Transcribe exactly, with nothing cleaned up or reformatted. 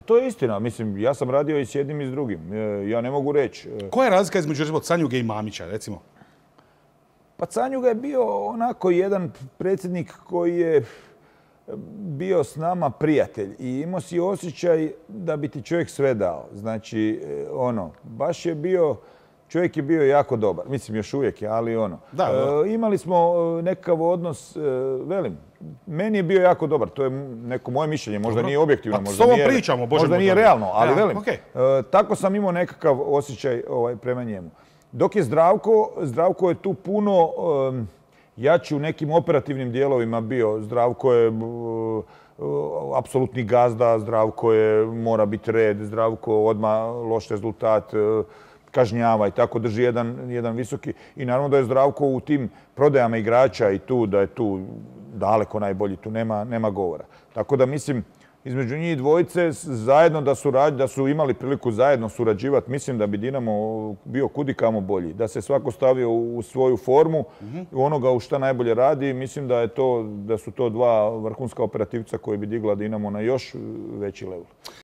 To je istina. Mislim, ja sam radio i s jednim i s drugim. Ja ne mogu reći. Koja je razlika između recimo Canjuge i Mamića, recimo? Pa Canjuga je bio onako jedan predsjednik koji je bio s nama prijatelj i imao si osjećaj da bi ti čovjek sve dao. Znači, ono, baš je bio, čovjek je bio jako dobar. Mislim, još uvijek je, ali ono. Da, da. E, imali smo nekakav odnos, e, velim, meni je bio jako dobar. To je neko moje mišljenje, možda Dobro. nije objektivno, Pa, možda s ovom nije, pričamo, Bože možda moj, nije dobro. realno, ali Ja, velim, okay. e, tako sam imao nekakav osjećaj ovaj, prema njemu. Dok je Zdravko, Zdravko je tu puno um, jači u nekim operativnim dijelovima bio. Zdravko je uh, uh, apsolutni gazda, Zdravko je mora biti red, Zdravko odmah loš rezultat, uh, kažnjava i tako drži jedan, jedan visoki. I naravno da je Zdravko u tim prodajama igrača i tu, da je tu daleko najbolji, tu nema, nema govora. Tako da mislim, između njih dvojice zajedno da su, da su imali priliku zajedno surađivati, mislim da bi Dinamo bio kudikamo bolji. Da se svako stavio u svoju formu, mm-hmm. u onoga u šta najbolje radi. Mislim da, je to, da su to dva vrhunska operativca koji bi digla Dinamo na još veći level.